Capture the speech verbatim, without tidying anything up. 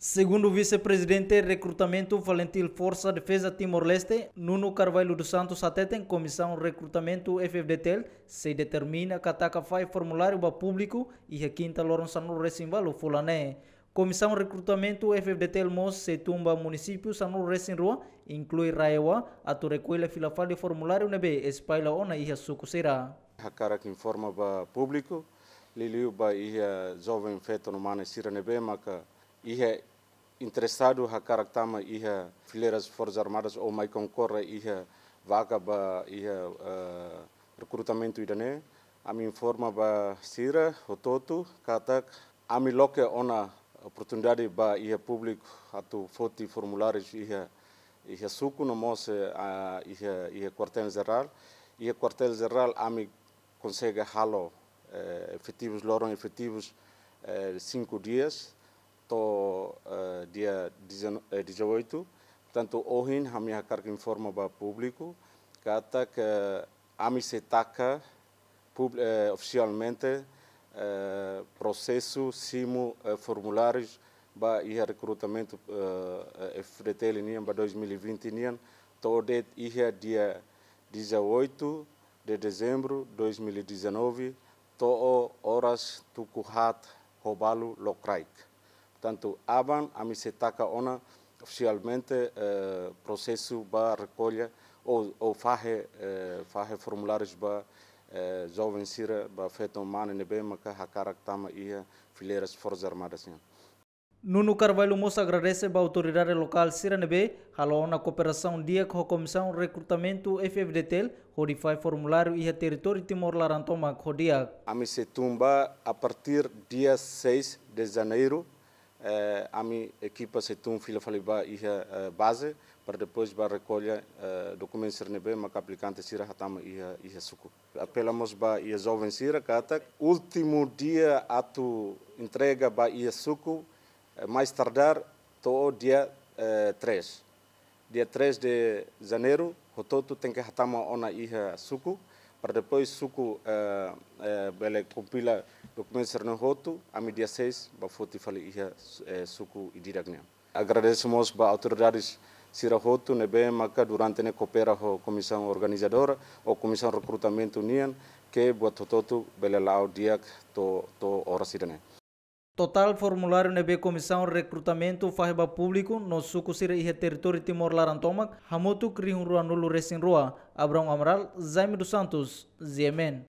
Segundu Vise-Prezidente Rekrutamentu Falintil Forsa Defeza Timor-Leste, Nuno Carvalho dos Santos, hateten Komisaun Rekrutamentu F-FDTL sei determina katak fai formuláriu ba públiku iha kinta loron sanulu-resin-ualu fulan ne'e. Komisaun Rekrutamentu F-FDTL mós sei tun ba munisípiu sanulu-resin-rua, inklui RAEOA, atu rekolla fila fali formuláriu ne'ebé espalla ona iha suku sira. Hakarak informa ba públiku, liuliu ba iha joven feto no mane sira ne'ebé maka iha interesadu hakarak tama iha fileiras Forsas Armadas ou mai konkorre iha vaga ba iha, eh, rekrutamentu ida-ne'e. Ami informa ba sira hotu-hotu katak ami loke ona oportunidade ba iha públiku atu foti formuláriu iha, iha suku no mós, eh, a, iha, iha kuartél jerál. Iha kuartél jerál ami konsege halo, eh, efetivus, loron efetivus, eh, cinco dias, to'o, eh, dia dezen-, eh, dezoito. Portantu, ohin ami hakarak informa ba públiku katak ami sei taka pub-, eh, ofisialmente, eh, prosesu simu, eh, formulárius ba iha rekrutamentu, eh, eh, F-FDTL nian ba dois mil e vinte nian, to'o de'it iha dia dezoito de dezembro dois mil e dezanove, to'o oras tuku haat ho balu lokraik. Portantu, aban ami sei taka ona ofisialmente, eh, prosesu ba rekolla ou, ou fahe, eh, fahe formulárius ba, eh, joven sira, ba feto mane ne'ebé maka hakarak tama iha fileiras Forsas Armadas nian. Nuno Carvalho mós agradese ba autoridade lokál sira ne'ebé halo ona kooperasaun di'ak ho Komisaun Rekrutamentu F-FDTL hodi fai formuláriu iha territóriu Timor laran tomak ho di'ak. Ami sei tun ba a partir dia seis de janeiro, eh, ami ekipa sei tun fila fali ba iha, eh, baze, para depois ba rekolla, eh, dokumentu sira ne'ebé maka aplikante sira hatama iha, iha suku. Apela mós ba iha joven sira katak últimu dia atu entrega ba iha suku, eh, mais tardar to'o dia, eh, três. Dia três de janeiro, hotu-hotu tenke hatama ona iha suku, para depois suku, eh, eh, bele kompila dokumentu sira-ne'e hotu, ami dia seis ba foti fali iha, eh, suku Idirak nian. Agradese mós ba autoridades sira hotu ne'ebé maka durante ne'e koopera ho komisaun organizadora ou komisaun rekrutamentu nian, ke buat hotu-hotu bele la'o di'ak to'o, to'o oras ida-ne'e. Totál formuláriu ne'ebé Komisaun Rekrutamentu fahe ba públiku no suku sira iha territóriu Timor laran tomak hamutuk rihun ruanulu-resin-rua. Abrão Amaral, Jaime dos Santos, G M N.